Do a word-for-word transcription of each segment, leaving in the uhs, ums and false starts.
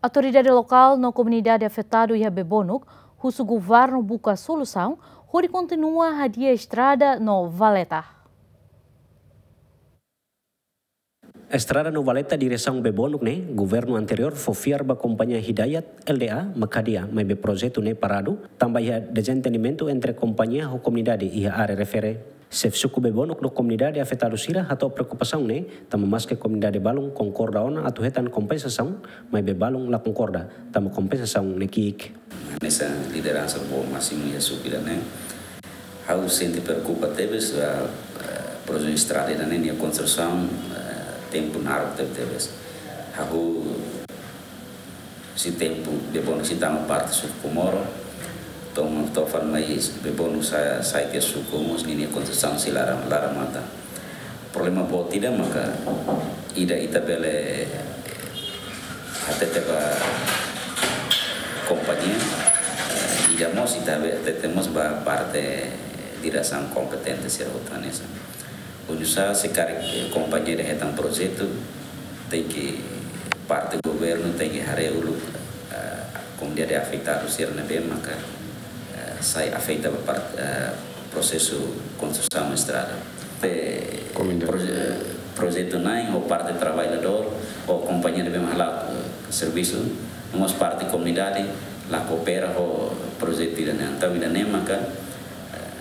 Autoridade lokál no komunidade afetadu iha Bebonuk husu governu buka solusaun hodi kontinua hadi'a estrada no valeta. Estrada no valeta diresaun Bebonuk ne'e, governu anteriór fó fiar ba kompañia Hidayat L D A mak hadi'a, maibé projetu ne'e paradu, tanba iha dezentendimentu entre kompañia ho komunidade iha área refere. Xefe suku Bebonuk no komunidade afetadu sira hato'o preokupasaun ne'e, tanba maske komunidade balun konkorda ona atu hetan kompensasaun, maibé balun la konkorda, tanba kompensasaun ne'e ki'ik. Hanesan lideransa boot másimu iha suku ida-ne'e, ha'u sente preokupa tebes, ah, ah, projetu estrada ida-ne'e nia konstrusaun, ah, tempu naruk tebetebes. Hahú husi tempu Bebonuk sei tama parte suku Komoro, to'o, to'o fali mai Bebonuk sa-, sai tiha suku mós ninia konstrusaun sei laran, laran matan. Problema boot ida maka ida ita bele hatete ba kompañia, eh, ida mós ita be-, hatete mós ba parte diresaun kompetente sira hotu hanesan. Oinsá se karik, eh, kompañia ida hetan projetu, tenke parte governu tenke haree uluk, eh, komunidade afetadu sira ne'ebé maka, eh, sai afeta ba part-, eh, prosesu konstrusaun estrada. Te Komunidade. Proje-, projetu na'in ho parte traballadór, ho kompañia ne'ebé mak hala'o, eh, servisu, no mós parte komunidade la koopera ho projetu ida-ne'e. Entaun ida-ne'e maka, eh,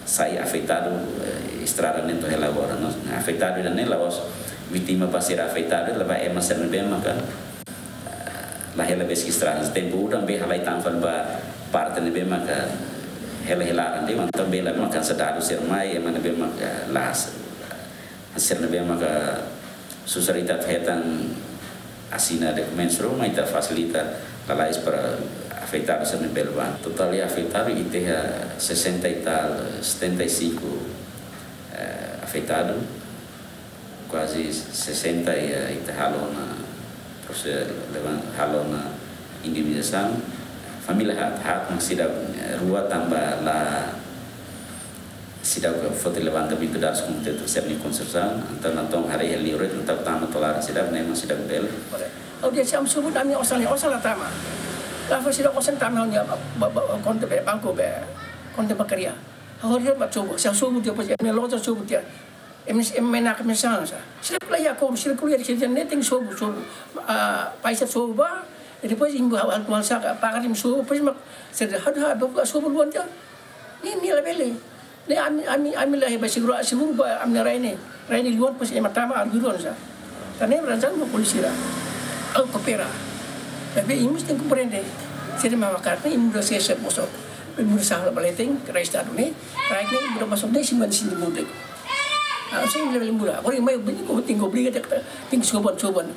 sai afetadu, eh, estrada ne'e to'o hela agora. No, afetadu ida-ne'e la'ós vítima ba sira afetadu, la'ós ba ema sira ne'ebé maka, eh, la hela besik estrada. Tempu udan bee halai tan fali ba parte ne'ebé maka hela hela ande, entaun bee la maka sadadu sira mai, ema ne'ebé maka las. Sira ne'ebé maka susar ita hetan asina dokumentus ruma ita fasilita lalais para afetadu sira ne'ebé bele bá. Totál iha afetadu ita iha sessenta e tal, setenta e cinco, eh, afetadu. Kuaze sessenta iha ita halo ona proses levan-, halo ona indemnizasaun. Família haat, haat mak seidauk, eh, rua tanba la seidauk foti levantamentu dadus komunidade sira-nia konstrusaun, entaun natoon haree hela liur, entaun tama to'o laran seidauk, ne'e mak seidauk bele. Oke, se ami sobu ami osan, osan la tama. La fó seidauk osan tama ha'u-nia ba, ba, ba, konta be, banku be, konta bankária. Ha'u hodi ba sobu, se sobu tiha, pois, ami loja sobu tiha. Ami, ami menak ami sala sa. Sira ko'alia ko, sira ko'alia, sira ne'e tenke sobu, sobu. Ah, paisa sobu ba, e depois imi ha'u, ha'u, ha'u saka, pagar imi sobu, depois mak, sira ha'u, ha'u, ha'u sobu luan tiha. Ne'e, ne'e labele. Ne'e ami, ami, ami la iha ba seguru, seguru ba ami-nia rai ne'e. Rai ne'e luan pas ema tama arbiruan sa. Tan ne'e razan ba polísia sira. Ha'u koopera. Tapi imi mesti komprende. Sira mak karik ne'e imi mesti sesa bosok. Imi mesti sala baleting, rai estadu ne'e. Rai ne'e imi mesti bosok ne'e siman sini mudik. Ah, sini labele mura. Agora mai bini ko tenke obriga tenke, tenke soban, soban.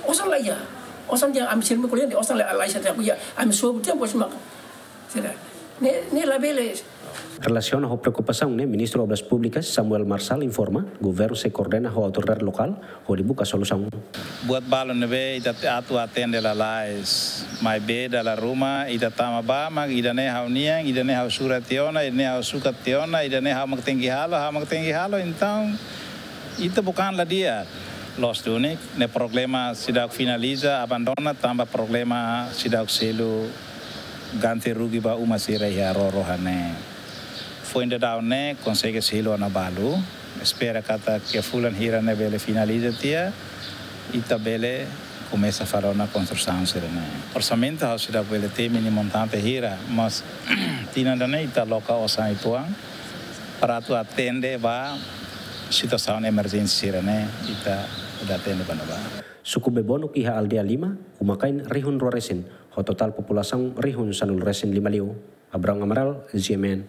Osan la iha. Osan tiha ami sira mak ko'alia, osan la, la iha sa tiha, ami sobu tiha, pois mak. Sira. Ne'e, ne'e labele. Relasiona ho preokupasaun ne'e, Ministru Obras Públikas Samuel Marçal informa, governu sei koordena ho autoridade lokál hodi buka solusaun. Buat balu ne'ebé ita atu atende lalais, maibé dala ruma ita tama ba mak ida-ne'e ha'u-nian, ida-ne'e ha'u sura tiha ona, ida-ne'e ha'u sukat tiha ona, ida-ne'e ha'u mak tenke halo, ha'u mak tenke halo, entaun ita bukan la di'ak. Loos duni, ne'e problema seidauk finaliza, abandona, tanba problema seidauk selu ganti rugi ba uma sira iha roro hanesan. Foin daudaun ne'e konsege selu ona balu. Espera katak iha fulan hira ne'e bele finaliza tiha, ita bele komesa fali ona konstrusaun sira-ne'e. Orsamentu ha'u seidauk bele temi nia montante hira, mas tinan ida-ne'e ita loke osan uitoan para atu atende ba situasaun emerjénsia sira-ne'e, ita bele atende ba ne'ebá. Suku Bebonuk iha aldeia lima, uma-kain rihun rua resin, ho totál populasaun rihun sanulu resin lima liu. Abrão Amaral, G M N.